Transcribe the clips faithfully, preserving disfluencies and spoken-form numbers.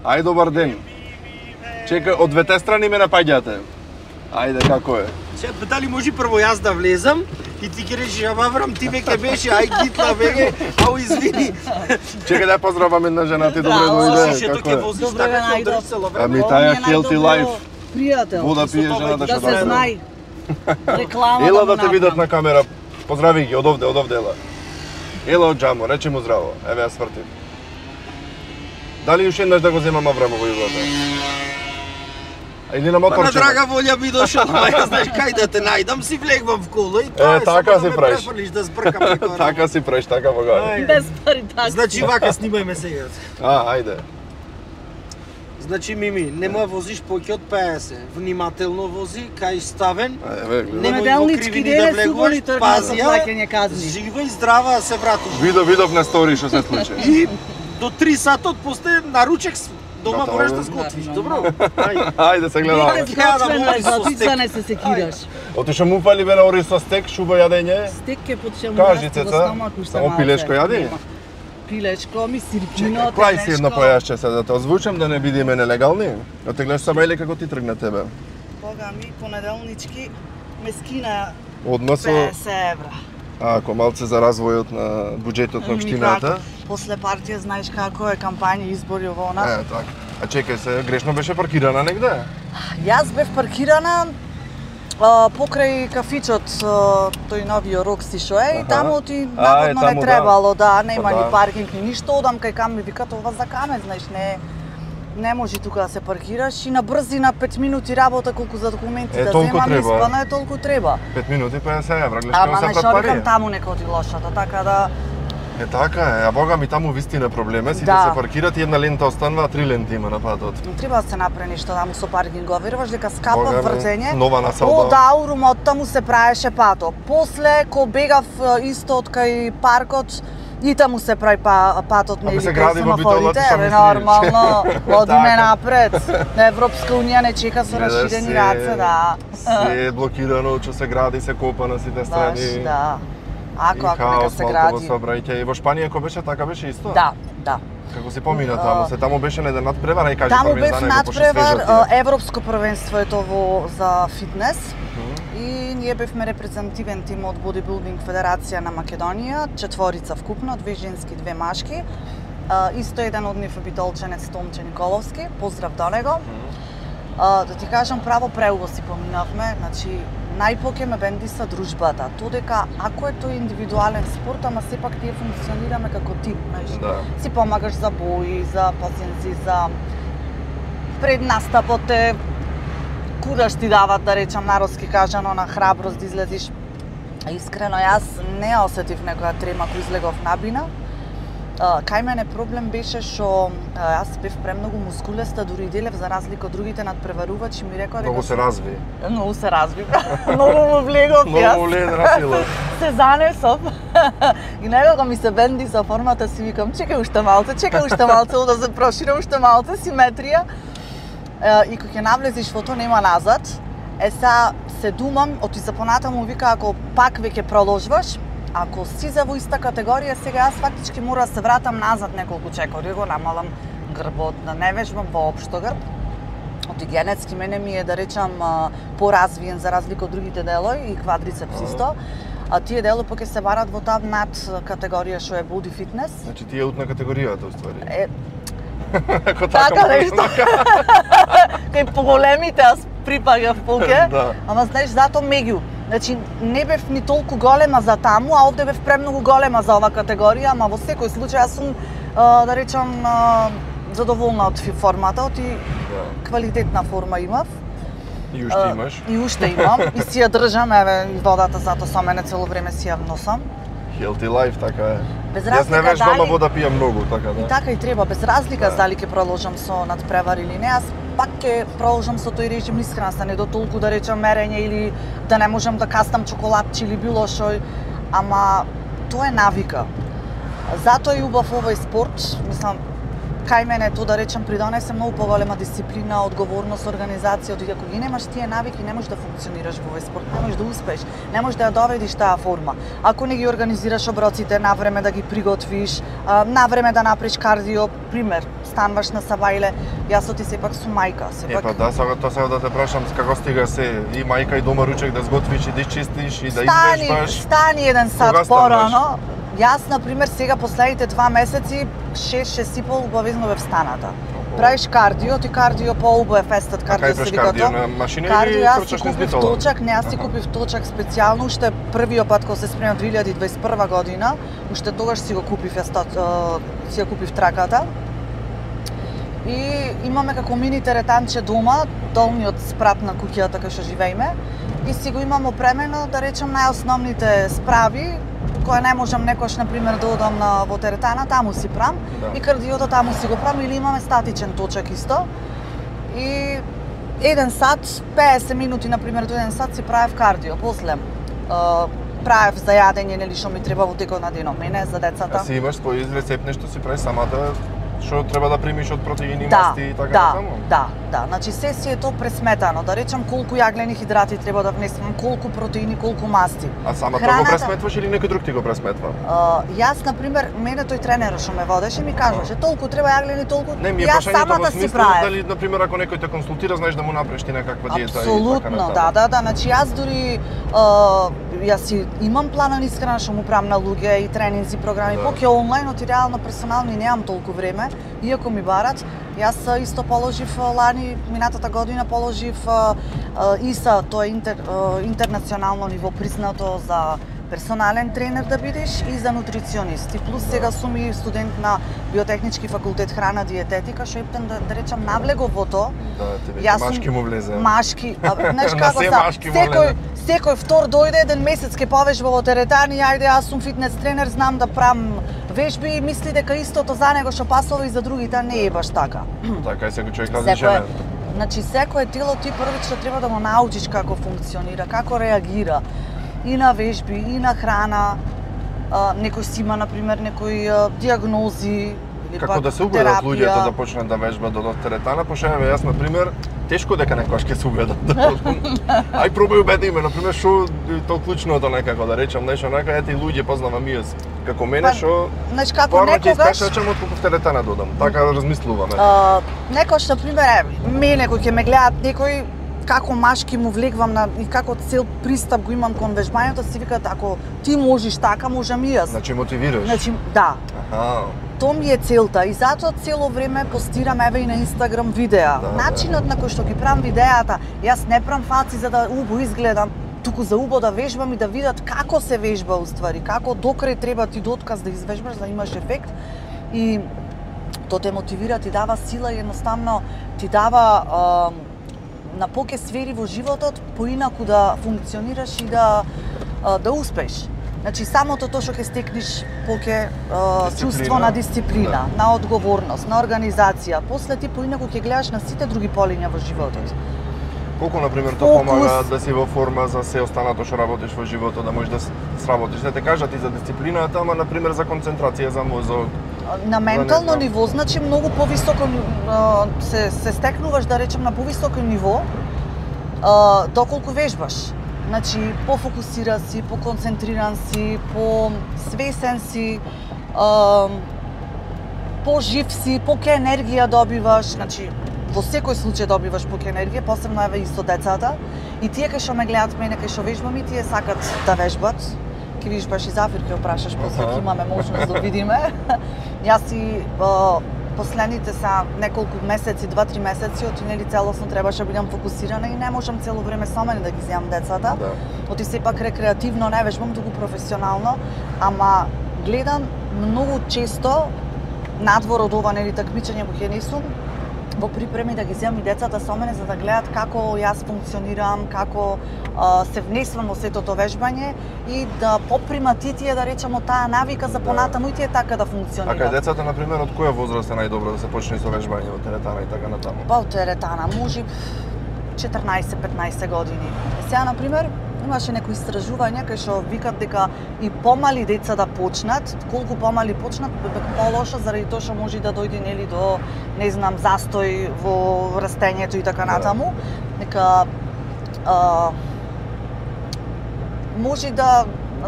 Ај, добар ден. Чекај, од двете страни ме напаѓате. Ајде, како е? Се, дали може прво јас да влезам и ти ќе речеш, ама врам, ти веќе беше, ај гитла веќе, ау извини. Чекај да поздравам една жена, ти добре дојде, како е? Добре, најдов. Ами таја Healthy Life. Пријател. Вода пие жената што да се знае. Реклама. Ела да те видат на камера. Поздрави ги, од овде, од овде ела. Ела од џамо, речи му здраво. Еве ја свртим. Дали уште еднаш да го земам Аврамово југото? Или на моторче? Па на драга волја би дошол, ама ја знаеш кај да те најдам, си влегвам в кола и тоа е, така си правиш. Да збркам некој. Така си правиш, така бога. Без пари така. Значи вака снимајме сега. А, ајде. Значи Мими, нема возиш поќе од петдесет. Внимателно вози, кај ставен. Еве, гледај. Немој во кривини да влегуваш, пази ја. Жива и здрава се вратуваш. Видов, видов на стори што се случи. И до три сата после наручек дома можеш да сготвиш, добро? Ајде. Ајде се гледаме. Ти не се секираш. Отиша му фали бе на ори со стек, шуба јадење. Стек е почему кажи цеца. Само пилешко јади? Пилешко, ми сирпчино, Клај си едно појашче се да те озвучам да не бидиме нелегални. Отеглеш сама или како ти тргна тебе? Бога ми, понеделнички ме скина Одма со петдесет евра. А, ако малце за развојот на буџетот на општината. После партија знаеш како е кампања избори ово нас. Е, така. А чекај се, грешно беше паркирана негде? Јас бев паркирана а, покрај кафичот, а, тој новиот Рокси шо е, и таму ти наводно не требало, да, нема ни паркинг ни ништо, одам кај кам ми вика ова за каме, знаеш, не не може тука да се паркираш и на брзина пет минути работа колку за документи е, да земам, испана е толку треба. пет минути петдесет евра, гледаш како се прат Ама пари. не таму нека оди лошата, така да Е така е, а бога ми таму вистина проблем е, сите да. се паркират и една лента останува, а три ленти има на патот. Треба да се направи нешто таму со паркингови, веруваш дека скапа вртење. Нова насалба. Од Аурум од таму се правеше патот. После ко бегав исто од кај паркот и таму се прави па, патот нели кај семафорите, е нормално, одиме напред. Европска унија не чека со расширени раце, да. Се е блокирано, че се гради, се копа на сите страни. Баш, да. Ако, ако нека се гради. И во Шпанија ако беше така беше исто? Да, да. Како се помина таму, се таму беше на еден надпревар, и кажи таму првен за него, пошто надпревар, европско првенство е тоа за фитнес. И ние бевме репрезентативен тим од Бодибилдинг Федерација на Македонија, четворица вкупно, две женски, две машки. Исто еден од нив е битолченец Томче Николовски, поздрав до него. Да ти кажам, право преубаво си поминавме, значи најпоќе ме бендиса дружбата. Тоа дека ако е тој индивидуален спорт, ама сепак тие функционираме како тим, знаеш. Да. Си помагаш за бои, за пациенци, за пред настапот е кураж ти дават, да речам народски кажано, на храброст да излезиш. Искрено, јас не осетив некоја трема кој излегов на бина. Uh, кај мене проблем беше што uh, јас бев премногу мускулеста, дури и делев за разлика од другите надпреварувачи, ми рекоа дека многу се разви. Многу се разви. Многу му влегов јас. Многу лен расила. Се занесов. И некако ми се бенди за формата, си викам, чекај уште малце, чекај уште малце, да се проширам уште малце, симетрија. Uh, и кога ќе навлезиш во тоа нема назад. Е са се думам, оти за понатаму вика ако пак веќе продолжуваш, ако си за во иста категорија, сега јас фактички мора да се вратам назад неколку чекори, го намалам грбот, да не вежбам воопшто грб. Оти генетски мене ми е, да речам, поразвиен за разлика од другите делови и квадрицепс исто. А тие дело поќе се барат во таа над категорија што е body fitness. Значи тие од на категоријата уствари. Е, Ако така нешто. Кај поголемите аз припагав поќе, да. Ама знаеш зато меѓу. Значи не бев ни толку голема за таму, а овде бев премногу голема за ова категорија, ама во секој случај јас сум а, да речам а, задоволна од формата, и да. Квалитетна форма имав. И уште имаш. И уште имам, и си ја држам, еве, и водата зато со мене цело време си ја носам. Healthy life, така е. Без Јас не вежбам, ама вода пијам многу, така да. И така и треба, без разлика да. дали ќе продолжам со надпревар или не, јас пак ќе продолжам со тој режим исхрана, не до толку да речам мерење или да не можам да кастам чоколадчи или било што, ама тоа е навика. Затоа е убав овој спорт, мислам, кај мене тоа да речам придонесе многу поголема дисциплина, одговорност, организација, од ако ги немаш тие навики, не можеш да функционираш во овој спорт, не можеш да успееш, не можеш да ја доведиш таа форма. Ако не ги организираш оброците на време да ги приготвиш, на време да направиш кардио, пример, стануваш на сабајле, јас ти сепак сум мајка, Е, сепак па да, сега тоа сега да те прашам како стига се и мајка и дома ручек да сготвиш и да изчистиш и да стани, извежбаш. стани еден Кога сат стануваш? порано. Јас, например, сега последните два месеци, шест шест и пол убавизно бев станата. Правиш кардио, ти кардио по-убав естет А кардио кај се правиш вика кардио тоа. на машина Кардио, или јас си трчаш низ купив битола? точак, не, јас си Аха. купив точак специјално, уште првиот пат кога се спремам две илјади и дваесет и прва година, уште тогаш си го купив јас тот, си ја купив траката. И имаме како мини теретанче дома, долниот спрат на куќата кај што живееме, и си го имам опремено, да речем, најосновните справи, која не можам некојаш, например, да одам на во теретана, таму си прам, Да. и кардиото таму си го прам, или имаме статичен точак исто. И еден сат, песет минути, например, до еден сат си правев кардио. После, е, правев за јадење, нели, што ми треба во текот на денот, мене, за децата. А си имаш свој рецепт нешто си прави самата, што треба да примиш од протеини, Да, масти и така да, натаму? да, да. Значи се си е тоа пресметано. Да речем колку јаглени хидрати треба да внесам, колку протеини, колку масти. А самата Храната- го пресметваш или некој друг ти го пресметва? Uh, јас, например, мене тој тренерот што ме водеше ми кажеше толку треба јаглени, толку. Не, ми е Јас прашањето во самата си смислу правев. дали, например, ако некој те консултира, знаеш да му направиш ти некаква диета и така Апсолутно, натаму. да, да, да. Значи јас дури uh, јас си имам планан искрена што му правам на луѓе и тренинзи, програми, Да. поќе онлайн, оти реално персонално и немам толку време, иако ми барат. Јас а, исто положив а, лани, минатата година положив а, а, ИСА, тоа е интер, а, интернационално ниво признато за персонален тренер да бидеш и за нутриционист. И плюс сега сум и студент на биотехнички факултет храна диететика, што ептен да, да речам навлегов во тоа. Да, ти веќе Јас сум машки му влезе. Машки, а, знаеш На како се са, машки му секој, влезе. секој втор дојде еден месец ке повежба во теретани, ајде јас сум фитнес тренер, знам да правам вежби и мисли дека истото за него што пасува и за другите, а не е баш така. Така и секој човек Секој, различен. значи секое тело ти првично треба да го научиш како функционира, како реагира и на вежби, и на храна. А, некој си има, например, некои а, диагнози или Како пак да се убедат терапија. луѓето да почнат да вежбат до теретана, пошто еве јас на пример тешко дека некојаш ќе се убедат. Ај пробај убеди ме, на пример, што е тоа клучното некако да речам, нешто нека ете и луѓе познавам и јас. Како мене Па, што Знаеш како порано ќе некогаш искашачам отколку в теретана додам. Така размислуваме. А, некош, например, е, мене кој ќе ме гледат некој како машки му влегвам на и како цел пристап го имам кон вежбањето, си викаат ако ти можеш така, можам и јас. Значи мотивираш. Значи, да. Аха. Тоа ми е целта и затоа цело време постирам еве и на Инстаграм видеа. Да, Начинот на кој што ги правам видеата, јас не правам фаци за да убо изгледам, туку за убо да вежбам и да видат како се вежба уствари, како докрај треба ти до отказ да извежбаш за да имаш ефект. И тоа те мотивира, ти дава сила и едноставно ти дава а, на поќе сфери во животот поинаку да функционираш и да а, да успеш. Значи самото тоа што ќе стекнеш поќе а, чувство на дисциплина, Да. на одговорност, на организација. После ти поинаку ќе гледаш на сите други полиња во животот. Колку на пример тоа Фокус. помага да си во форма за се останато што работиш во животот, да можеш да с- сработиш. Да те кажат и за дисциплината, ама на пример за концентрација, за мозок. На ментално знам. ниво, значи многу повисоко а, се се стекнуваш да речем на повисоко ниво а, доколку вежбаш. Значи пофокусиран си, поконцентриран си, по свесен си, а, пожив си, поќе енергија добиваш, значи во секој случај добиваш поќе енергија, посебно еве и со децата. И тие кај што ме гледат мене кај што вежбам и тие сакат да вежбат. Ќе видиш баш и Зафир ќе опрашаш, после Аха. ќе имаме можност да видиме. Јас и а, последните са неколку месеци, два-три месеци, оти нели целосно требаше да бидам фокусирана и не можам цело време со мене да ги земам децата. Да. Оти сепак рекреативно не вежбам, туку професионално, ама гледам многу често надвор од ова нели такмичење во ќе не сум, во припреми да ги земам и децата со мене за да гледат како јас функционирам, како а, се внесувам во сето тоа вежбање и да попримат и тие да речеме таа навика за понатаму и тие така да А кај функционираат. децата на пример од која возраст е најдобро да се почне со вежбање во теретана и така натаму? Па од теретана, може четрнаесет-петнаесет години. Е, сега, например, имаше некои истражувања кај што викат дека и помали деца да почнат, колку помали почнат, дека полошо заради тоа што може да дојде нели до, не знам, застој во растењето и така Да. натаму. Дека а, може да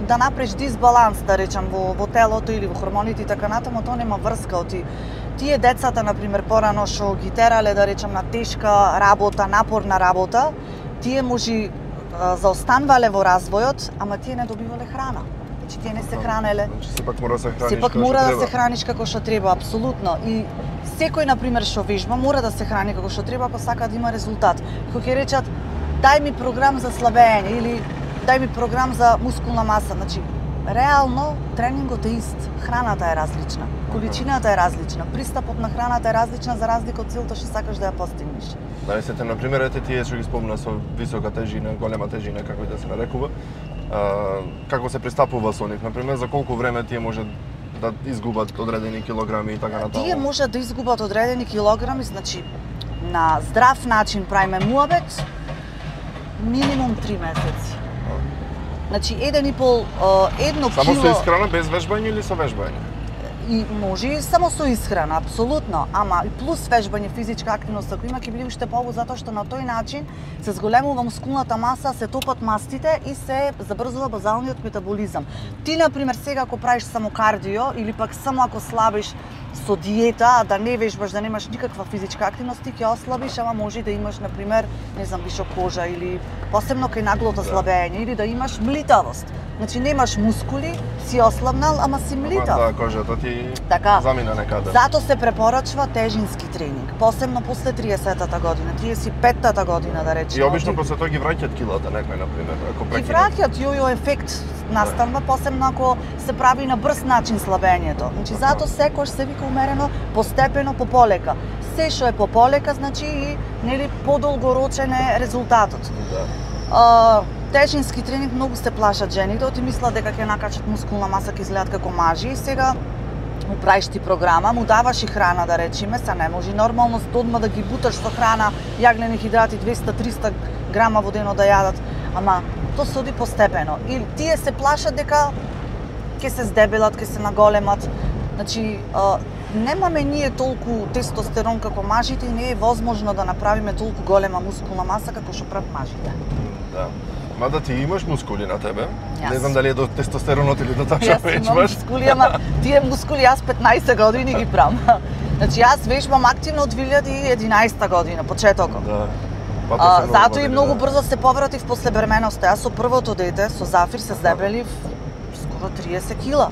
да направиш дисбаланс, да речам, во, во телото или во хормоните и така натаму, тоа нема врска од ти. Тие децата, например, порано што ги терале, да речам, на тешка работа, напорна работа, тие може заостанвале во развојот, ама тие не добивале храна. Значи тие не се хранеле. Значи сепак мора да се храниш. Сепак мора да се храниш како што треба, апсолутно. И секој, например, што вежба, мора да се храни како што треба ако сака да има резултат. Кога ќе речат дај ми програм за слабење или дај ми програм за мускулна маса, значи реално тренингот е ист, храната е различна, количината е различна, пристапот на храната е различна за разлика од целта што сакаш да ја постигнеш. Да, сете, на пример, ете тие што ги спомна со висока тежина, голема тежина, како и да се нарекува, а, како се пристапува со нив, на пример, за колку време тие може да изгубат одредени килограми и така натаму? Тие може да изгубат одредени килограми, значи на здрав начин правиме муабет минимум три месеци. Значи еден и пол, едно Само кило... со исхрана, без вежбање или со вежбање? И може и само со исхрана, апсолутно, ама и плюс вежбање, физичка активност, ако има ќе биде уште побу, затоа што на тој начин се зголемува мускулната маса, се топат мастите и се забрзува базалниот метаболизам. Ти, например, сега ако правиш само кардио или пак само ако слабиш со диета, да не вежбаш, да немаш никаква физичка активност, ти ќе ослабиш, ама може да имаш, например, не знам, вишок кожа или посебно кај наглото слабење, или да имаш млитавост. Значи немаш мускули, си ослабнал, ама си млитав. Да, кожата ти така, замина некаде. Зато се препорачува тежински тренинг, посебно после триесеттата година, триесет и петтата година да речеме. И обично после тоа ги враќаат килата некој, например, ако Ги прекинат. враќаат, јојо ефект настанува, посебно ако се прави на брз начин слабењето. Значи зато секој се вика умерено, постепено, пополека. Се што е пополека, значи и нели подолгорочен е резултатот. Да. А, тежински тренинг многу се плашат жените, оти мислат дека ќе накачат мускулна маса, ќе изгледат како мажи и сега му правиш ти програма, му даваш и храна да речеме, са не може нормално одма да ги буташ со храна, јаглени хидрати двеста до триста грама во дено да јадат, ама тоа се оди постепено. И тие се плашат дека ќе се здебелат, ќе се наголемат. Значи, а, немаме ние толку тестостерон како мажите и не е возможно да направиме толку голема мускулна маса како што прават мажите. Да. Мада ти имаш мускули на тебе. Јас. Не знам дали е до тестостеронот или до тоа што Јас имам вежбаш. мускули, ама тие мускули јас петнаесет години ги правам. Значи јас вежбам активно од две илјади и единаесета година, почетокот. Да. Па, А, тоа се зато години, и многу да. брзо се повратив после бременоста. Јас со првото дете, со Зафир, се здебелив скоро триесет кила.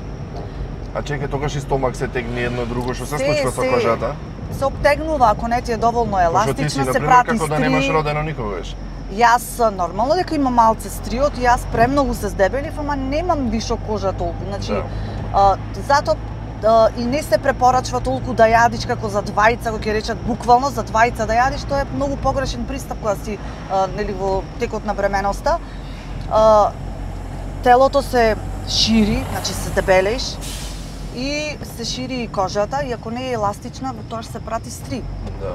А чекај, тогаш и стомак се тегни едно друго, што се Се, случува со се. кожата? Се обтегнува, ако не ти е доволно Пошто ти си, еластична, се например, прати како да немаш стри. родено никогаш. Јас нормално дека имам малце стриот и јас премногу се здебелив, ама немам вишок кожа толку. Значи, Да. а, зато а, и не се препорачва толку да јадиш како за двајца, кога ќе речат буквално за двајца да јадиш, тоа е многу погрешен пристап кога си а, нели во текот на бременоста. А, телото се шири, значи се дебелеш и се шири и кожата и ако не е еластична, во тоа се прати стри. Да.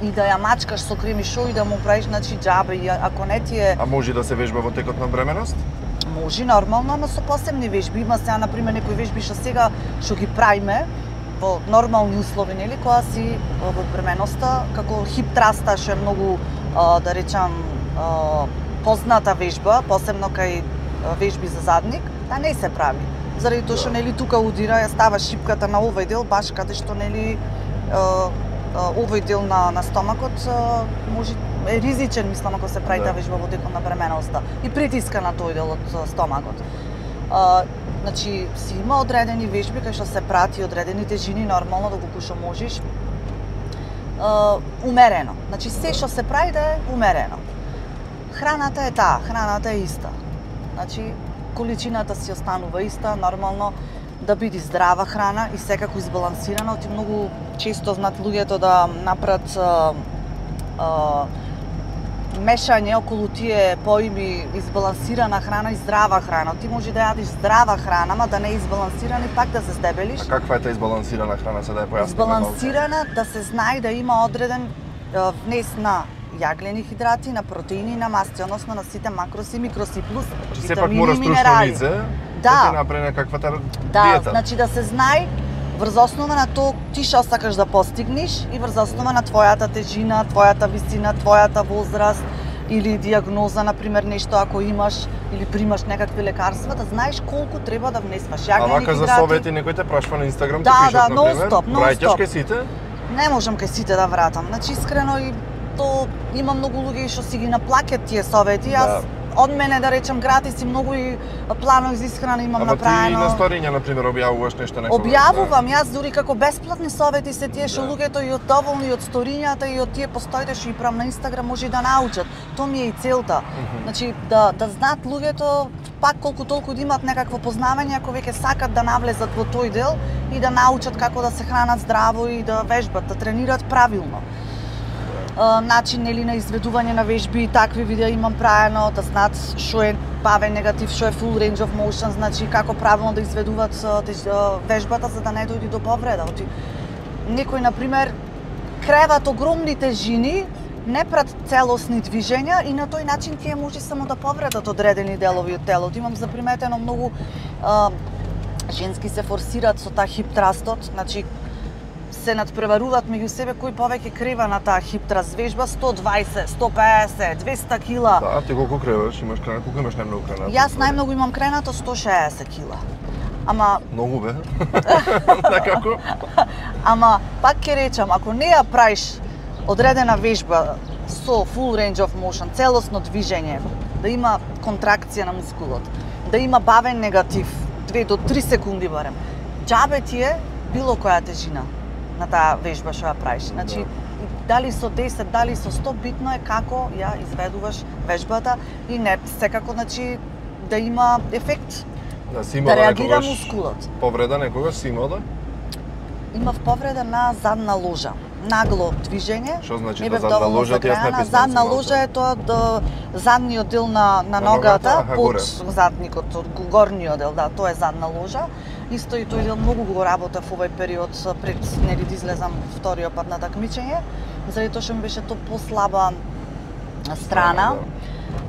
И да ја мачкаш со креми шоу и да му правиш значи џабе и ако не ти е А може да се вежба во текот на бременост? може нормално, ама со посебни вежби. Има сега на пример некои вежби што сега што ги правиме во нормални услови, нели, кога си во бременоста, како хип траста што е многу а, да речам а, позната вежба, посебно кај а, вежби за задник, да не се прави. Заради тоа што нели тука удира, ја става шипката на овој дел, баш каде што нели а, овој дел на, на стомакот може е ризичен, мислам, ако се прави Да. таа вежба во текот на бременоста и притиска на тој дел од стомакот. А, значи, си има одредени вежби кај што се прати одредени тежини, нормално доколку што можеш. А, умерено. Значи, се што се прави да е умерено. Храната е таа, храната е иста. Значи, количината си останува иста, нормално да биде здрава храна и секако избалансирана, оти многу често знаат луѓето да направат а, а, мешање околу тие поими избалансирана храна и здрава храна. Ти може да јадиш здрава храна, ама да не е избалансирана и пак да се здебелиш. А каква е таа избалансирана храна, се да ја појасниме? Избалансирана, да се знае да има одреден а, внес на јаглени хидрати, на протеини, на масти, односно на сите макроси и микроси, плюс Че сепак витамини мора и стручно минерали. лице Да. да ти направи некаквата Да, диета. значи да се знае врз основа на тоа ти што сакаш да постигнеш и врз основа на твојата тежина, твојата висина, твојата возраст, или диагноза, например, нешто ако имаш или примаш некакви лекарства, да знаеш колку треба да внесваш. А вака за совети некој те прашува на Инстаграм, да, ти пишат, да, например? нон-стоп, нон-стоп. Враќаш кај сите? Не можам кај сите да вратам. Значи, искрено, и то има многу луѓе што си ги наплаќат тие совети. Јас Да. од мене, да речем, гратис и многу и планови за исхрана имам Ама направено. ти на сториња, например, објавуваш нешто некогаш? Објавувам, јас дури како бесплатни совети се тие што Да. луѓето и од доволни од сторињата и од тие постоите што ги правам на Инстаграм може и да научат. Тоа ми е и целта. Значи да да знаат луѓето пак колку толку да имаат некакво познавање ако веќе сакат да навлезат во тој дел и да научат како да се хранат здраво и да вежбат, да тренираат правилно. Uh, начин нели на изведување на вежби и такви видеа имам правено, да знаат што е бавен негатив, што е full range of motion, значи како правилно да изведуваат uh, теж, uh, вежбата за да не дојде до повреда. Оти некој на пример креват огромни тежини, не прат целосни движења и на тој начин тие може само да повредат одредени делови од телото. Имам заприметено многу uh, женски се форсираат со таа хип трастот, значи се надпреваруваат меѓу себе кој повеќе крива на таа хип траст вежба, сто дваесет, сто пеесет, двеста кила. Да, ти колку креваш? Имаш крена, колку имаш најмногу кренато? Јас најмногу имам кренато сто шеесет кила. Ама Многу бе. Некако? Ама пак ќе речам, ако не ја правиш одредена вежба со full range of motion, целосно движење, да има контракција на мускулот, да има бавен негатив, две до три секунди барем, џабе ти е било која тежина на таа вежба што ја правиш. Значи, дали со десет, дали со сто, битно е како ја изведуваш вежбата и не секако, значи, да има ефект, Да, си имала да реагира некогаш мускулот. повреда некогаш си имала? Имав повреда на задна ложа. Нагло движење. Што значи Не тоа бев задна доволно ложа? Ти јас не загреана. писнам Задна малку. ложа е тоа до задниот дел на, на, На ногата, ногата, аха, под горе. задникот, од горниот дел, да, тоа е задна ложа. Исто и тој дел многу го работев овој период пред нели да излезам вториот пат на такмичење, заради тоа што ми беше тоа послаба страна.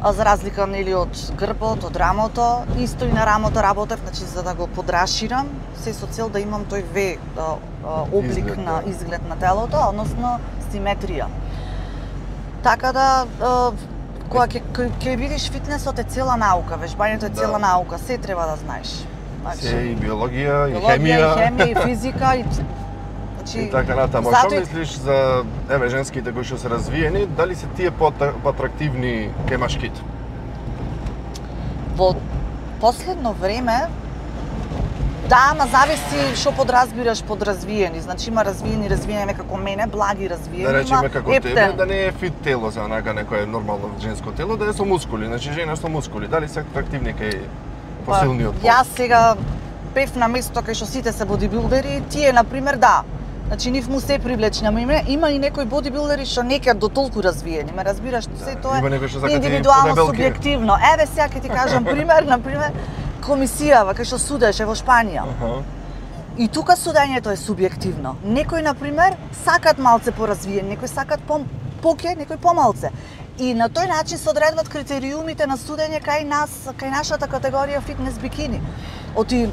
А за разлика нели од грбот, од рамото, исто и на рамото работев, значи за да го подраширам, се со цел да имам тој ве а, а, облик Изглед, на да. изглед на телото, односно симетрија. Така да а, кога ќе ќе- ќе видиш фитнесот е цела наука, вежбањето е Да. цела наука, се треба да знаеш. Се и биологија, и биологија, хемија. и хемија, и физика, и значи И така натаму. затоа Што и- мислиш за еве женските кои што се развиени, дали се тие поатрактивни кај машките? Во последно време, да, ама зависи што подразбираш под развиени. Значи има развиени, развиени како мене, благи развиени, Да речеме има како тебе, ептен. да не е фит тело за онака некое нормално женско тело, да е со мускули, значи жена со мускули. Дали се атрактивни кај посилниот пол? Јас сега бев на место кај што сите се бодибилдери, тие на пример да. Значи нив му се привлечни, ама има, има и некои бодибилдери што не ќе до толку развиени. Ме разбираш, се тоа има некои што сакат и индивидуално подебелки. субјективно. Еве сега ќе ти кажам пример, на пример комисијава кај што судеше во Шпанија. Аха. И тука судењето е субјективно. Некои, на пример, сакат малце поразвиен, некои сакат по поќе, некои помалце. И на тој начин се одредват критериумите на судење кај нас, кај нашата категорија фитнес бикини. Оти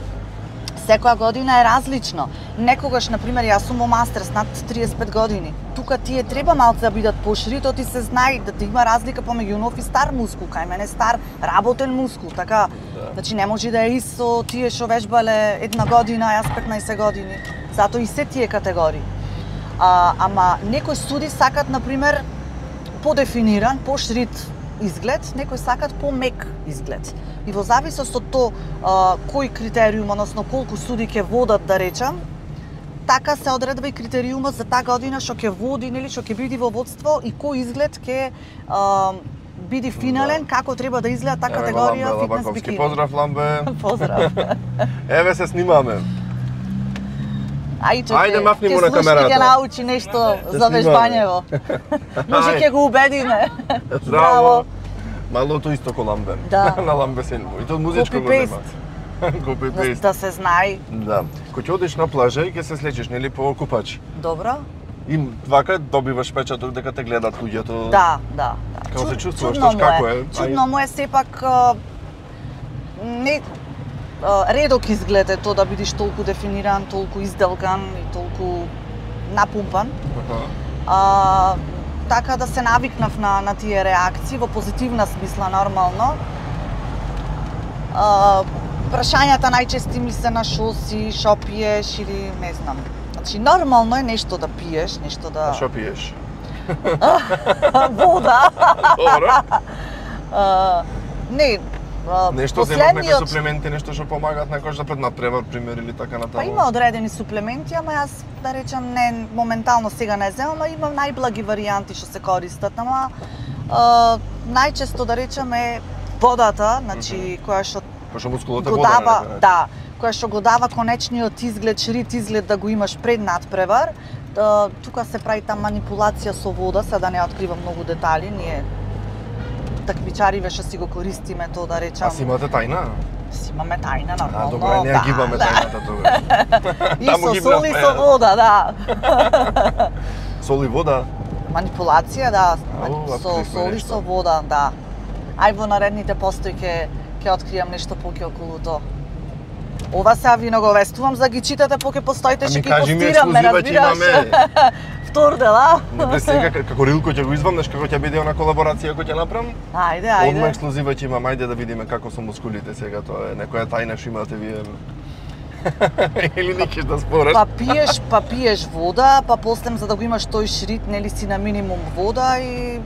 секоја година е различно. Некогаш, на пример, јас сум во мастерс над триесет и пет години. Тука тие треба малце да бидат пошири, тоа ти се знае да има разлика помеѓу нов и стар мускул, кај мене стар работен мускул, така. Да. Значи не може да е исто тие што вежбале една година, јас петнаесет години. Затоа и се тие категории. А, ама некои суди сакат, на пример, подефиниран, пошрит изглед, некои сакат помек изглед. И во зависност од тоа а, кој критериум, односно колку суди ќе водат, да речам, така се одредува и критериумот за таа година што ќе води, нели, што ќе биде во водство и кој изглед ќе а, биде финален, како треба да изгледа таа Еве го категорија Ламбе фитнес Лабаковски. бикини. Поздрав, Ламбе. Поздрав. Еве се снимаме. Ајде, Ајде, мафни му на камерата. Ќе научи нешто за снимаме. вежбањево. Може Ајде. ќе го убедиме. Здраво. Малото исто ко Ламбе. Да. На Ламбе се И тоа музичко го Copy-paste. нема. Копи Да, пейст. да се знае. Да. Кога ќе одиш на плажа и ќе се слечеш, нели, по купачи. Добро? И вака добиваш печаток дека те гледат луѓето. Да, да. да. Како се Чуд- чувствуваш, чудно тош му како е? Чудно му е сепак а, не а, редок изглед е тоа да бидеш толку дефиниран, толку изделкан и толку напумпан. Аха. А, така да се навикнав на, на тие реакции, во позитивна смисла, нормално. А, прашањата најчести ми се на шо си, шо пиеш или не знам. Значи, нормално е нешто да пиеш, нешто да... А шо пиеш? Вода. Добро. А, не, а, Нешто земат некои последниот... суплементи, нешто што помагаат некојаш да пред надпревар, пример, или така натаму? Па има одредени суплементи, ама јас, да речам, не, моментално сега не земам, ама има најблаги варијанти што се користат, ама а, најчесто, да речам, е водата, значи, mm -hmm. која што Пошто мускулот е го вода, дава, не, да, која што го дава конечниот изглед, ширит изглед да го имаш пред надпревар. Да, тука се прави та манипулација со вода, сега да не откривам многу детали, ние такмичариве што си го користиме тоа, да речам. А си имате тајна? Си имаме тајна, нормално. А, добре, не ја гибаме да. тајната тогаш. И со сол и со вода, да. Сол и вода? Манипулација, да, Ау, со сол и со вода, да. Ај во наредните постои ќе ќе откријам нешто поќе околу тоа. Ова сега ви наговестувам за ги читате поќе постоите, ќе ги постирам, ме разбираш. Втор дел, а? Не сега како рилко ќе го извамнеш, како ќе биде она колаборација која ќе направам? Ајде, ајде. Одма ексклузива ќе имам, ајде да видиме како со мускулите сега, тоа е некоја тајна што имате вие. Или никиш да спораш? Па пиеш, па пиеш вода, па после за да го имаш тој шрит, нели си на минимум вода и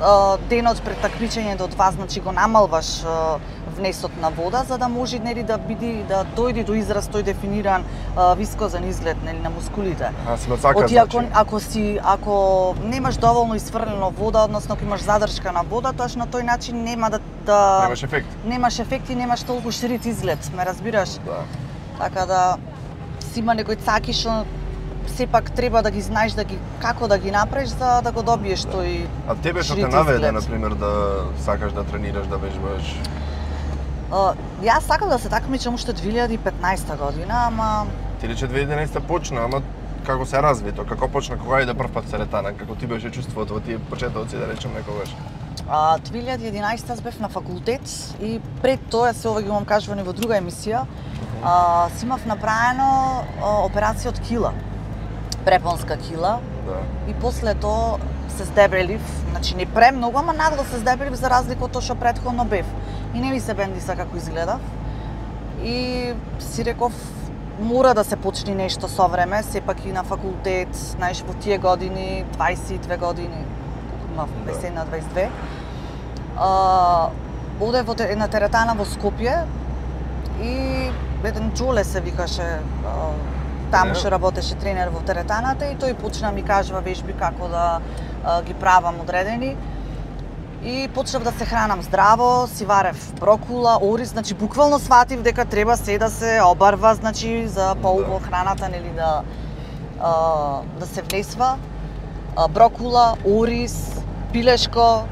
а, денот пред такмичењето од вас, значи го намалваш а, внесот на вода за да може нели да биде да дојде до израз тој дефиниран а, вискозен изглед нели на мускулите. А си мацака, Оти, ако, значи. ако си ако немаш доволно isfрлено вода, односно ако имаш задршка на вода, тоаш на тој начин нема да да Немаш ефект. Немаш ефект и немаш толку ширит изглед, ме разбираш? Да. Така да си има некои цаки што сепак треба да ги знаеш да ги како да ги направиш за да го добиеш Да. тој. А тебе што те ширит наведе, изглед. на пример, да сакаш да тренираш, да вежбаш? Uh, јас сакам да се такмичам уште две илјади и петнаесета година, ама Ти рече две илјади и единаесета почна, ама како се разви тоа? Како почна, кога иде прв пат теретана? Како ти беше чувството во тие почетоци, да речем некогаш? uh, две илјади и единаесета бев на факултет и пред тоа се ова ги имам кажувани во друга емисија. Uh, си имав направено uh, операција од кила, препонска кила, Да. и после тоа се здебелив, значи не премногу, ама нагло се здебелив за разлика од тоа што претходно бев. И не ми се бендиса како изгледав. И си реков, мора да се почне нешто со време, сепак и на факултет, знаеш, во тие години, дваесет и две години, имав дваесет и едно дваесет и две. А, одев во една теретана во Скопје и еден Џоле се викаше, а, таму што работеше тренер во теретаната и тој почна ми кажува вежби како да а, ги правам одредени. И почнав да се хранам здраво, си варев брокула, ориз, значи буквално сватив дека треба се да се обарва, значи за поубаво храната, нели да а, да се внесва. А, брокула, ориз, пилешко,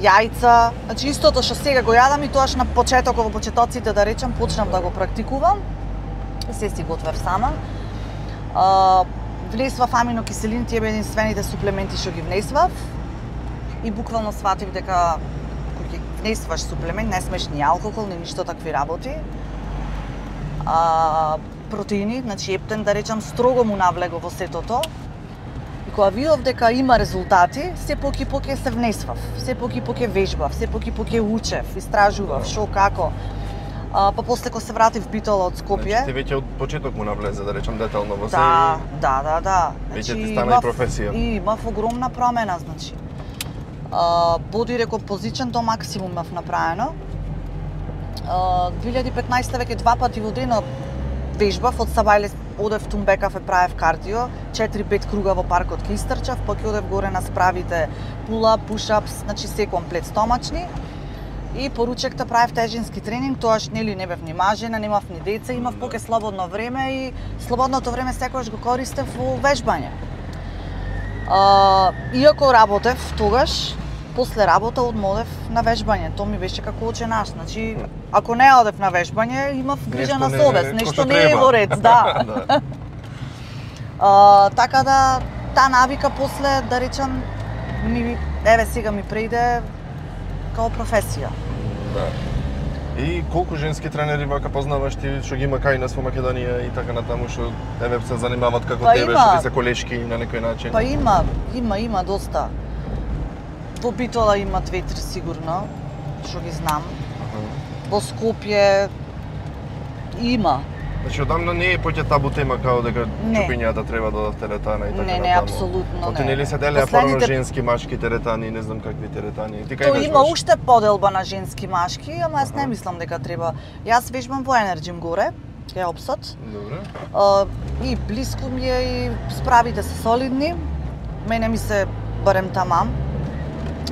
јајца, значи истото што сега го јадам и тоаш на почетокот во почетоците да речам почнав да го практикувам. Се си готвев сама. А, внесвав аминокиселини, тие беа единствените суплементи што ги внесвав. И буквално сватив дека кога ќе внесваш суплемент, не смеш ни алкохол, ни ништо такви работи. А, протеини, значи ептен да речам строго му навлего во сетото. И кога видов дека има резултати, се поки поки се внесвав, се поки поки вежбав, се поки поки учев, истражував шо како. А, па после кога се вратив в Битола од Скопје. Значи ти веќе од почеток му навлезе, да речем детално во се. Да, да, да, да. Веќе Значи, ти стана и професија. И имав огромна промена, значи. Uh, боди рекомпозичен до максимум имав направено. Uh, две илјади и петнаесета веќе два пати во денот вежбав, од Сабајле одев тумбе кафе, правев кардио, четири-пет круга во паркот ке истрчав, поќе одев горе на справите pull-up, push-ups, значи се комплет стомачни. И поручекта правев тежински тренинг, тоаш нели не бев ни мажена, немав ни деца, имав поќе слободно време и слободното време секогаш го користев во вежбање. Uh, иако работев тогаш, после работа одмодев на вежбање. Тоа ми беше како оче наш. Значи, ако не одев на вежбање, имав грижа на совест, нешто не е во ред, да. Да. uh, така да, таа навика после, да речам, ми, еве сега ми преиде као професија. Да. И колку женски тренери вака познаваш ти што ги има кај нас во Македонија и така натаму што еве се занимаваат како Па тебе, има. што ти се колешки на некој начин? Па има, има, има доста. Во Битола има две-три сигурно, што ги знам. Во Скопје има. Значи, одамна не е поќе табу тема као дека чупињата треба да дадат теретана и така Не, не, апсолутно не. Оти нели се делеа Последните... порано женски, машки теретани, не знам какви теретани. Ти кај То вежбаш? има уште поделба на женски машки, ама јас не мислам дека треба. Јас вежбам во Енерджим горе, кај Опсот. Добре. Uh, и блиску ми е и справите се солидни. Мене ми се барем тамам.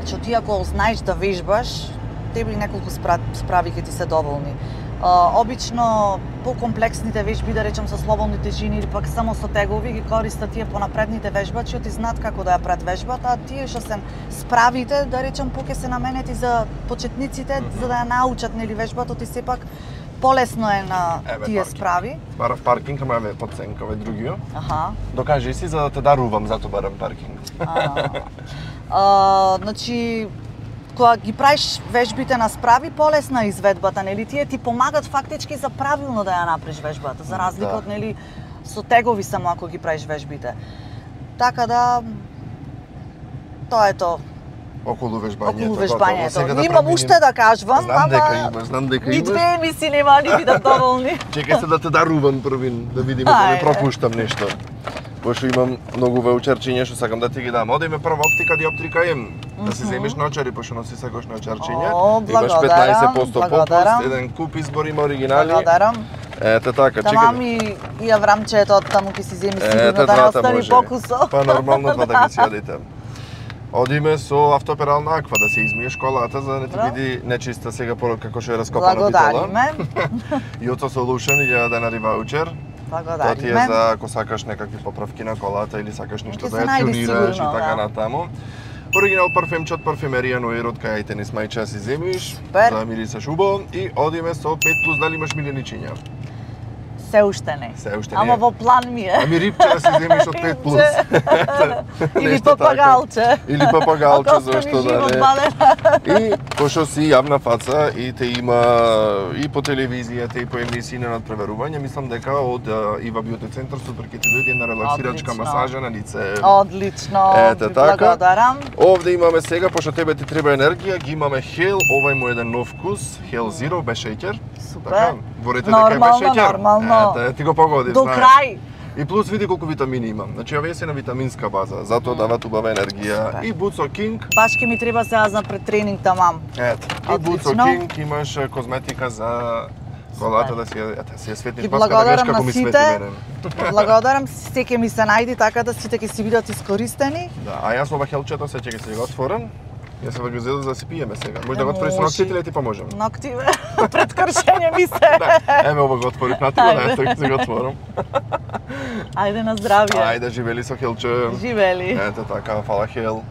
Че ти ако знаеш да вежбаш, тебе и неколку справи ќе ти се доволни. Uh, обично по-комплексните вежби, да речем со слободни тежини или пак само со тегови, ги користат тие понапредните вежбачи, оти знаат како да ја пред вежбата, а тие што се справите, да речем, поќе се наменети за почетниците, mm -hmm. за да ја научат нели вежбата, оти сепак полесно е на Еве, тие паркинг. справи. Барав паркинг, ама еве подценка овој другиот. Аха. Докажи си за да те дарувам, зато барам паркинг. А, значи, кога ги правиш вежбите на справи, полесна е изведбата, нели? Тие ти помагат фактички за правилно да ја направиш вежбата, за разлика Да. од нели со тегови само ако ги правиш вежбите. Така да тоа е тоа. Околу вежбањето. Околу готово. вежбањето. Сега да Имам преминем- уште да кажувам, Знам дека ама имаш, знам дека ни имаш. две емисии нема ни бидат доволни. Чекај се да те дарувам првин, да видиме да не Ајде. пропуштам нешто. Пошто имам многу ваучерчиња што сакам да ти ги дам. Одеме прва оптика диоптрика М. Да си земиш наочари, пошто носи секој наочарчиња. О, Имаш благодарам, петнаесет проценти попуст, благодарам. еден куп избор има оригинали. Благодарам. Ете така, Тамам чекај. и и аврамчето од таму ќе си земи Ете, сигурно да не двата остани може. покусо. Па нормално два да ги си јадите. Одиме со автоперална аква да се измиеш колата за да не ти Добро. биде нечиста сега по како што е раскопана битола. Благодариме. Јото Solution илјада денари ваучер. Тоа ти е Благодариме. за ако сакаш некакви поправки на колата или сакаш нешто Ќе да се ја најде тюнираш и сигурно, така да. натаму. Оригинал парфемче од парфемерија Ноирот кај ајте не смајча си земиш, Супер. да мирисаш убаво и одиме со пет плюс, дали имаш миленичиња? Се уште не. Се уште не. Ама во план ми е. Ами рипче да си земиш од пет плюс. Или Нешто така. папагалче. Или папагалче, Ако зашто остане да живот не. балена. И пошто си јавна фаца и те има и по телевизијата и по емисии на надпреверување, мислам дека од а, Ива Бјути центар супер ќе ти дојде една релаксирачка Одлично. масажа на лице. Одлично. Ете ви така. Благодарам. Овде имаме сега, пошто тебе ти треба енергија, ги имаме Hell, овај му еден нов вкус, Hell Zero без шеќер. Супер. Така, ворите дека е без Нормално, шеќер. нормално. Ете, ти го погоди, До знаеш. крај. И плюс види колку витамини имам. Значи овие се на витаминска база, затоа дават убава енергија. Супер. И Буцо King, Баш ке ми треба сега за пред тренинг тамам. ето, и Буцо Отлично. King имаш е, козметика за колата да си, ја- ете, си ја светниш Ги маска да гледаш благодарам како на ми свети сите. мене. Благодарам, се ќе ми се најди така да сите ќе си бидат искористени. Да, а јас ова хелчето се ќе го отворам. Јас се го зедо за да си пиеме сега. Може да го Не отвориш со може. ногтите или ти поможам? Ногти пред кршење ми се. Еме ова го отворив на тива, Ајде. да ќе се го отворам. Ајде на здравје. Ајде, живели со хелче. Живели. Ето така, фала хел.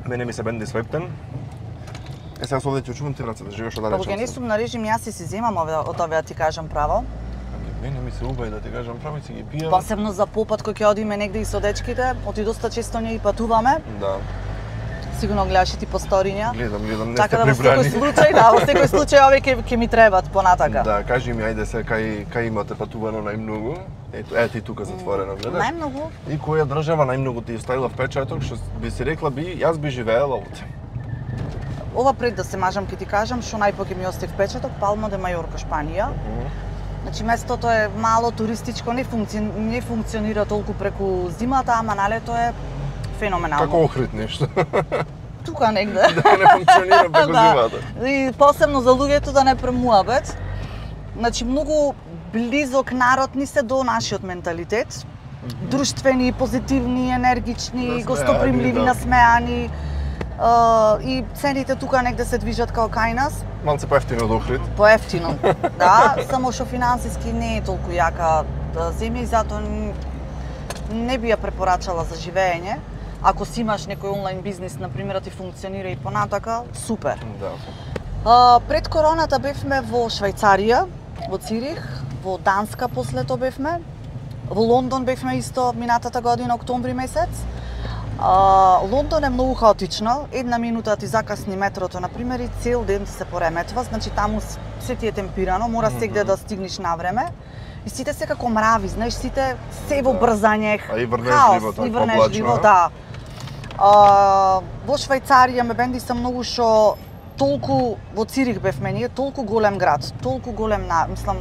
Мене ми се бенди свептен. Е, сега со овде ќе чувам ти рацете, живееш од Кога ќе не сум на режим, јас си си земам овде, од овие да ти кажам право. Мене ми се убај да ти кажам право, си ги пијам. Посебно за попат кој ќе одиме негде и со дечките, оти доста често ние и патуваме. Да, Сигурно гледаш и ти по сториња. гледам, гледам, не Така сте да во секој прибрани. случај, да, во секој случај овие ќе ќе ми требат понатака. Да, кажи ми, ајде се, кај, кај имате патувано најмногу? Ето, ето и тука затворено, гледаш? Најмногу И која држава најмногу ти оставила впечаток, што би си рекла би, јас би живеела овде. ова пред да се мажам ќе ти кажам што најпоќе ми остави впечаток, Палма де Мајорка, Шпанија. Значи местото е мало туристичко, не, функци... не функционира толку преку зимата, ама на лето е феноменално. Како Охрид нешто. Тука негде. Да не функционира преку Да. зимата. И посебно за луѓето да не премуабет. Значи многу близок народ ни се до нашиот менталитет. Друштвени, позитивни, енергични, Насмеани, гостопримливи, да. насмеани. Uh, и цените тука негде се движат као кај нас, Малце поевтино од Охрид. поевтино. Да, само што финансиски не е толку јака да, земја и затоа н- не би ја препорачала за живење. Ако си имаш некој онлайн бизнис, например, да ти функционира и понатака, супер. Да. А, пред короната бевме во Швајцарија, во Цирих, во Данска после тоа бевме, во Лондон бевме исто минатата година, октомври месец. А, Лондон е многу хаотично, една минута ти закасни метрото, например, и цел ден ти се пореметва, значи таму с- се ти е темпирано, мора сегде да стигнеш на време. И сите се како мрави, знаеш, сите се во Да. брзање, А и врнежливо, хаос, така, и врнежливо, облачно, да. А, во Швајцарија ме бендиса многу што толку во Цирих бевме ние, толку голем град, толку голем, на, мислам,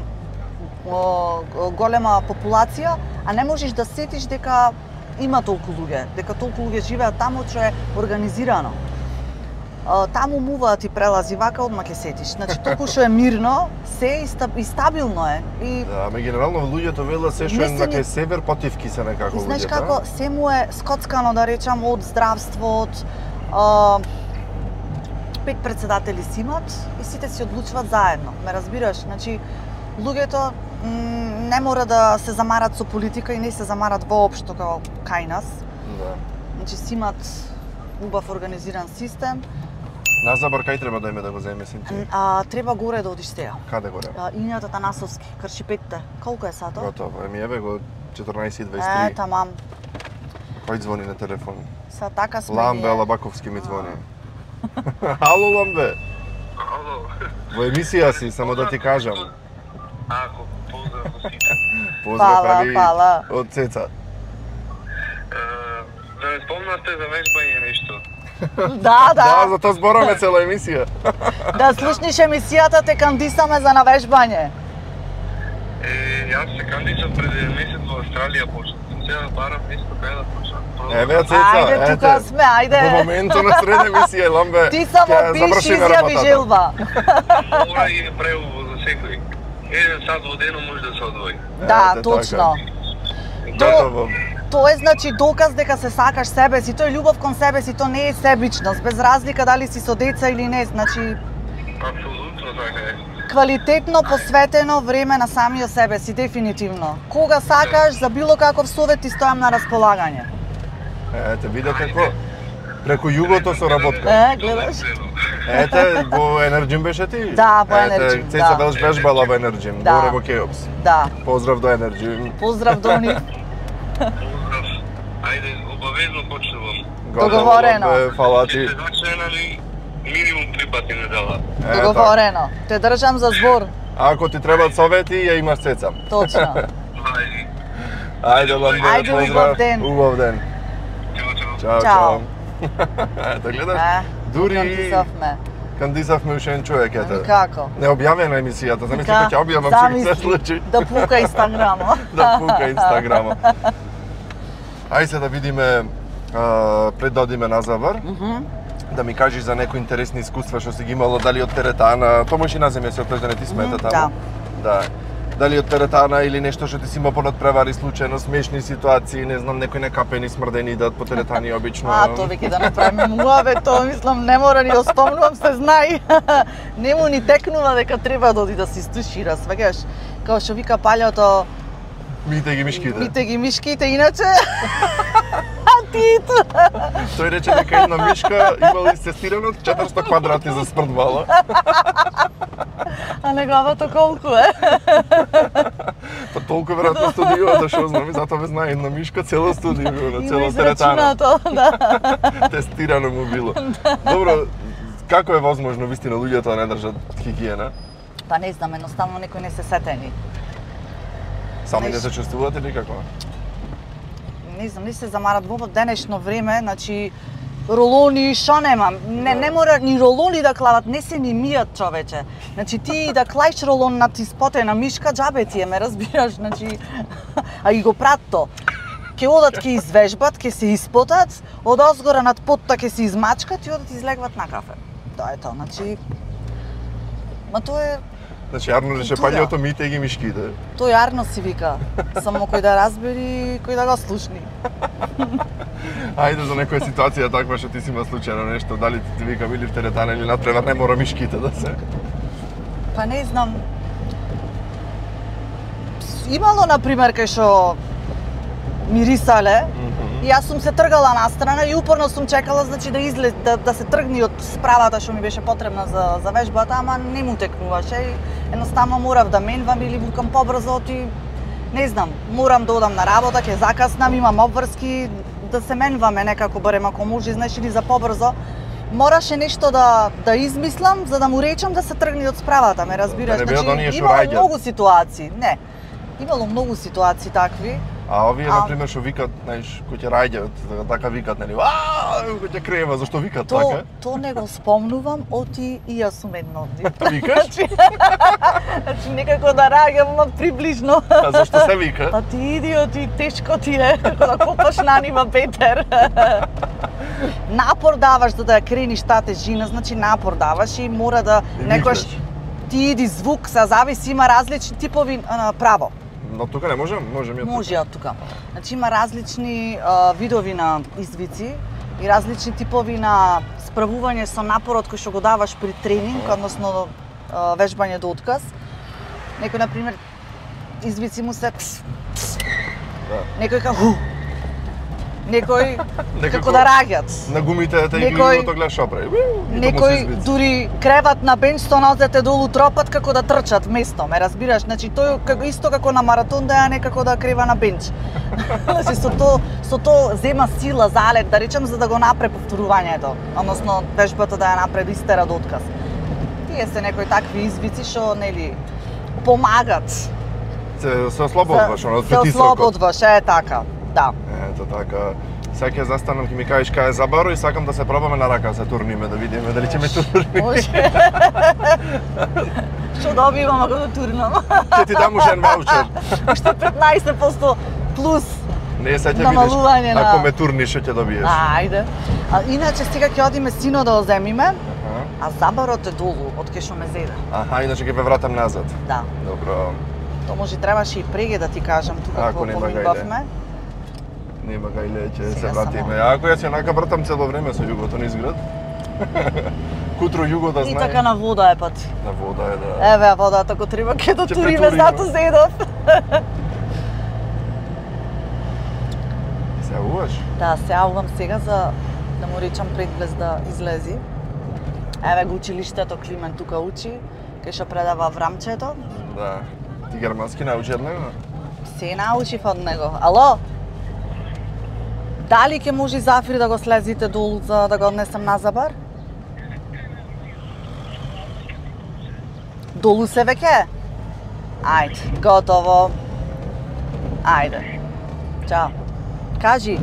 о, голема популација, а не можеш да сетиш дека има толку луѓе, дека толку луѓе живеат таму, што е организирано. А, таму муваат ти прелази, вака одма ќе сетиш. Значи, толку што е мирно, се и стабилно е. И... Да, ме генерално луѓето велат се што е на кај север потивки се некако луѓето. Знаеш како, се му е скоцкано, да речам, од здравство, од... А, пет председатели си имат и сите си одлучуваат заедно. Ме разбираш? Значи, луѓето не мора да се замарат со политика и не се замарат воопшто како кај нас. Да. Значи, си имат убав организиран систем. На Забор кај треба да име да го земе син? А, треба горе да одиш сега. Каде горе? Инјата Танасовски, крши петте. Колку е сато? Готово, еми еве го четрнаесет и дваесет и три. Е, тамам. Кој звони на телефон? Са така сме Ламбе ние. Алабаковски ми звони. Ало, Ламбе. Ало. Во емисија си, само да ти кажам. Ако, поздрав за сите. Поздрав, Пала, али пала. од Цеца. Да не спомнате за вежбање нешто? Да, Да, да. за тоа збораме цела емисија. Да слушниш емисијата, те кандисаме за навежбање. Е, јас се кандидирав пред еден месец во Австралија, почнав. Сега барам место кај да почнам. Еве Цеца, Ајде, тука ете. сме, ајде. Во моментот на сред емисија, Ламбе. Ти само ќе пиши, завршиме изјави работата. желба. Мора и превоз за секој. Еден сат во денот може да се одвои. Да, Ете, точно. Готово. Тоа е значи доказ дека се сакаш себе си, тоа е љубов кон себе си, тоа не е себичност, без разлика дали си со деца или не, значи Апсолутно така е. квалитетно посветено време на самиот себе си, дефинитивно. Кога сакаш, за било каков совет ти стојам на располагање. Ете, видете како преку југото со работка. Е, гледаш? Ете, во Енерджим беше ти? Да, во Енерджим, Ете, Цеца да. беше вежбала во Енерджим, Да. горе во Кеопс. Да. Поздрав до Енерджим. Поздрав до нив. Поздрав. Ајде, обавезно почнувам. Договорено. Ламбе, фала Ќе ти. се зачненали минимум три пати недела. Е, Договорено. Те држам за збор. Ако ти требаат совети, ја имаш Цеца. Точно. Ајде. Ајде, Ламбе, Ајде, поздрав. убав ден. Убав ден. Чао, чао. Чао, Чао. чао. Ето, гледаш? Е, Дури кандисавме. кандисавме уште еден човек, Ами ете. како? Не објавена емисијата, замисли Ка- кога ќе објавам што ќе се замисли, случи. Да пука Инстаграмот. Да пука Инстаграмот. Ајде се да видиме, а, пред да одиме на Забор, да ми кажеш за некои интересни искуства што си ги имала, дали од теретана, тоа може и на земја се отлежда, не ти смета Мгм, таму? Да. Дали од теретана или нешто што ти си имал понадпревари случајно, смешни ситуации, не знам, некои некапени, смрдени идат по теретани обично. А, тоа веќе да направиме муаве, тоа мислам не мора ни да спомнувам, се знаи. Нему ни текнува дека треба да оди да се истушира, сваќаш? Као што вика палјото, Мите ги мишките. мите ги мишките, иначе... А ти тоа? Тој рече дека една мишка имала истестирано четиристо квадрати за смрдвала. А неговото колку е? Па толку веројатно студијата што знам и затоа ве знае една мишка цело студио, на Има цела теретана. израчунато, да. Тестирано му било. Добро, како е возможно вистина луѓето да не држат хигиена? Па не знам, едноставно некои не се сетени. Сами не Знаеш- се чувствувате или како? Не знам, не се замарат во денешно време, значи ролони, шо немам. Не, не мора ни ролони да клават, не се ни мијат, човече. Значи ти да клаиш ролон на ти спотена мишка, џабе ти е, ме разбираш, значи а и го прат то. Ке одат ке извежбат, ке се испотат, од озгора над потта ке се измачкат и одат излегват на кафе. Тоа е тоа, значи ма тоа е Значи, јарно рече Култура. паѓото мите ги мишките. Тој јарно си вика, само кој да разбери, кој да го слушни. Ајде за некоја ситуација таква што ти си има случајно нешто, дали ти, ти вика били в теретана или надпревар, не мора мишките да се. Па не знам. Имало, например, кај што мирисале, и јас сум се тргала настрана и упорно сум чекала, значи да излез, да, да се тргни од справата што ми беше потребна за, за вежбата, ама не му текнуваше и едноставно морав да менвам или викам побрзо оти, не знам, морам да одам на работа, ќе закаснам, имам обврски, да се менваме некако, барем ако може, знаеш, или за побрзо. Мораше нешто да да измислам за да му речам да се тргне од справата, ме разбираш? Да не бидат оние што имало раѓаат. многу ситуации, не. Имало многу ситуации такви. А овие, А- например, што викат, знаеш, кои ќе раѓаат, така викат, нели? Аа, кои ќе крема, зашто викат То, така? то не го спомнувам, оти и јас сум едно од нив. Викаш? Значи некако да раѓам, ма приближно. А зашто се вика? Па ти идиоти, тешко ти е, како да копаш на нива Петер. Напор даваш за да ја крениш таа тежина, значи напор даваш и мора да И некојаш викаш. ти иди звук, са зависи, има различни типови а, право. Но тука не можем, можем ја Може од тука. Значи има различни а, видови на извици и различни типови на справување со напорот кој што го даваш при тренинг, односно а, вежбање до отказ. Некој, например, извици му се тс, тс. Да. Некој како ху. Некој Некако како да раѓат. На гумите те Некој- игливото гледаш што прави. И тоа му се Некој извици. дури креват на бенч со нозете долу тропат како да трчат место, ме разбираш? Значи тој како исто како на маратон да ја некако да крева на бенч. Значи со то со то зема сила залет, да речем, за да го напре повторувањето, односно вежбата да ја напре да истера до отказ. Тие се некои такви извици што нели помагат. Се, се ослободваш, оно се петисрокот. ослободваш, е така. Да. Ето така. Сега ќе застанам, ќе ми кажеш кај е забаро и сакам да се пробаме на рака, се турниме, да видиме дали ќе ме турни. Може. Што добивам ако да турнам? Ќе ти дам уште еден ваучер. Уште петнаесет проценти плюс. Не, сега ќе Намалување видиш, на- ако ме турниш, што ќе добиеш. Ајде. А иначе сега ќе одиме сино да го земиме, Аха. а забарот е долу од кај што ме зеде. Аха, иначе ќе ве вратам назад. Да. Добро. То може требаше и преге да ти кажам тука Ако кога нема гајле. поминувавме. Нема гајле, ќе се Сега вратиме. само. Ако јас јанака вратам цело време со југото низ град. Кутро југо да И знае. така на вода е пат. На вода е да. Еве водата ако треба ќе да Ќе туриме, претуриме. зато зедов. Се јавуваш? Да, се јавувам сега за да му речам предглез да излези. Еве го училиштето, Климен тука учи, кај што предава Врамчето. Да. Ти германски научи од него? Се научив од него. Ало? Дали ќе може Зафир да го слезите долу за да го однесам на Забар? Долу се веќе? Ајде, готово. Ајде. Чао. Кажи.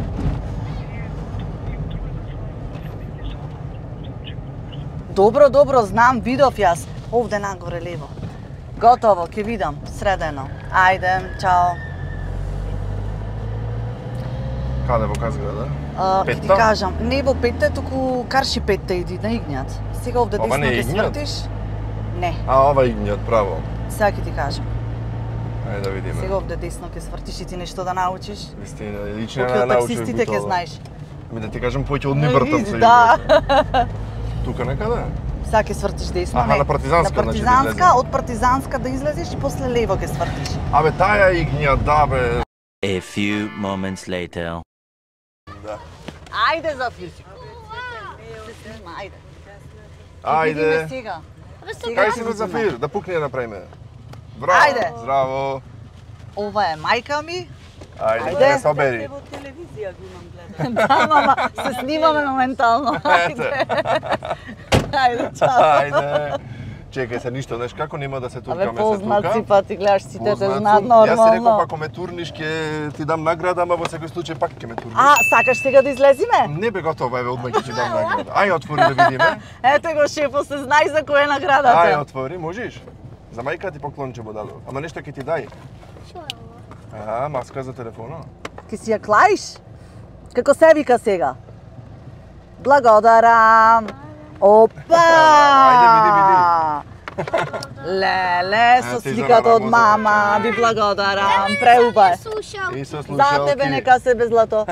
Добро, добро, знам, видов јас. Овде нагоре лево. Готово, ќе видам, средено. Ајде, чао. Каде во Казграда? А, ќе ти Петта? кажам, не во петте, туку карши петте иди на Игњат. Сега овде Ова десно не е ќе Игњат? свртиш. Не, А, ова игњат, право. сега ќе ти кажам. Ајде да видиме. Сега овде десно ќе свртиш и ти нешто да научиш. Вистина, лично Поќе не од научив таксистите ќе Бутова. знаеш. Ми да ти кажам поќе од Нивртам со Да. југото. Тука некаде? Сега ќе свртиш десно, Аха, не. на Партизанска, На значи, да Партизанска, излеземе. од Партизанска да излезеш и после лево ќе свртиш. Абе, таја игња, да бе. A few moments later. Ајде, Зафир. Се снима, ајде. Ќе видиме Ајде. сега. Кај си ќе бе видиме. Зафир? Да пукне ја направиме. Браво. Ајде. Здраво. Ова е мајка ми. Ајде, Ајде. да не собери. Во телевизија го имам гледан. Да, мама, се снимаме моментално. Ете. Ајде, чао. Ајде. Чекај се, ништо, знаеш како нема да се туркаме Абе, се тука. познаци па ти гледаш, сите те Познат знаат сум. Јас си реков, нормално. ако ме турниш, ќе ти дам награда, ама во секој случај пак ќе ме турниш. А, сакаш сега да излезиме? Не бе готово, еве, одма ќе ти дам награда. Ај, отвори да видиме. Ете го шефо, се знај за која е Ај, наградата. отвори, можеш? За мајка ти поклонче му дадов. Ама нешто ќе ти дај. Што е ова? Аха, маска за телефона. Ке си ја клаиш? Како се вика сега? Благодарам. Опа! Ајде, види, види. Леле, со А, ти за сликата од мама, мама, ви благодарам, преуба е. Слушам. И со За слушалки. тебе нека се без злато.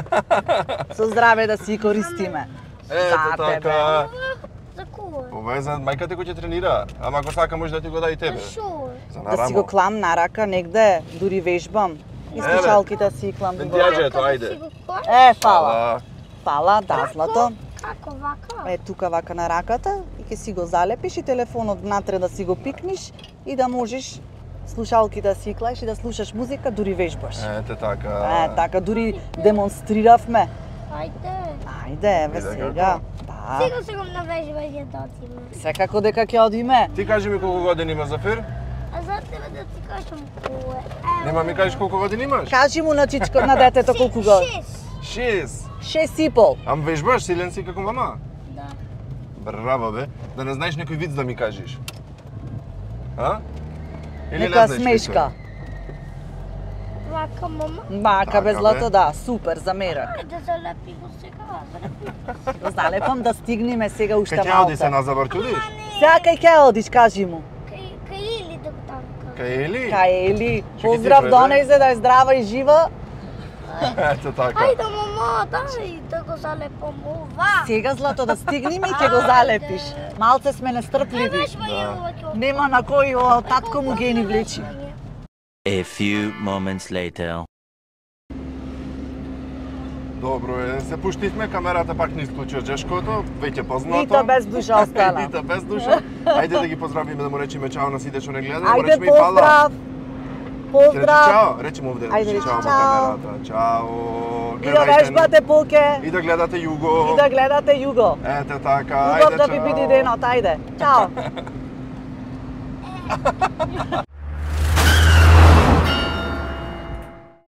Со здраве да си користиме. Ето За тебе. така. За кого? Ова е за мајка ти кој ќе тренира. Ама ако сака може да ти го даде и тебе. За шо? За Да си го нарамо. клам на рака негде, дури вежбам. И Еве. слушалките си клам. Мен во- ти јаđe, ето, Како ајде. си го клаш? Е, фала. Фала. Фала, да, злато. Како вака? Е, тука вака на раката и ќе си го залепиш и телефонот внатре да си го пикниш и да можеш слушалки да си клаиш и да слушаш музика, дури вежбаш. Ете така. Е, така, дури демонстриравме. Ајде. Ајде, еве Виде сега. како? Да. Сега се го навежување да отиме. Секако дека ќе одиме. Ти кажи ми колку години има Зафир? А знаете ли да ти кажам кое? Нема ми кажеш колку години имаш? Кажи му на чичко на детето колку го. Шест. Шест. Шест и пол. Ам вежбаш, силен си како мама? Да. Браво бе. Да не знаеш некој виц да ми кажеш. А? Или не Нека знаеш смешка. Вака, мама. Мака Така, без бе. злато, да, супер, за мерак. Да залепи го сега, залепи. Го залепам да стигнеме сега уште Кај ќе оди се малце. на забор, ќе одиш? Сега кај ќе одиш, кажи му. Кај, кај или да го танка. Кај Ели? Кај Ели. Ще ги Поздрав ти до преде. нејзе да е здрава и жива. Ето така. Ајде, мама, дај да го залепам ова. Сега злато да стигнеме и ќе го залепиш. Малце сме нестрпливи. Знаеш, ма ја ова ќе Нема на кој о, татко му ги ни влечи. A few moments later. Добро е, се пуштивме, камерата пак не исклучи од Жешкото, веќе познато. Нита без душа остана. Нита без душа. Ајде да ги поздравиме, да му речеме чао на сите што не гледаат, да му Ајде, речеме и фала. поздрав. Ќе речи Поздрав. чао, речи му овде, Ајде, речи речи чао на чао. камерата. Чао. И да Гледајте ни. вежбате пулке. И да гледате Југо. И да гледате Југо. Ете така, Убав ајде да чао. ви биде денот, ајде. Чао.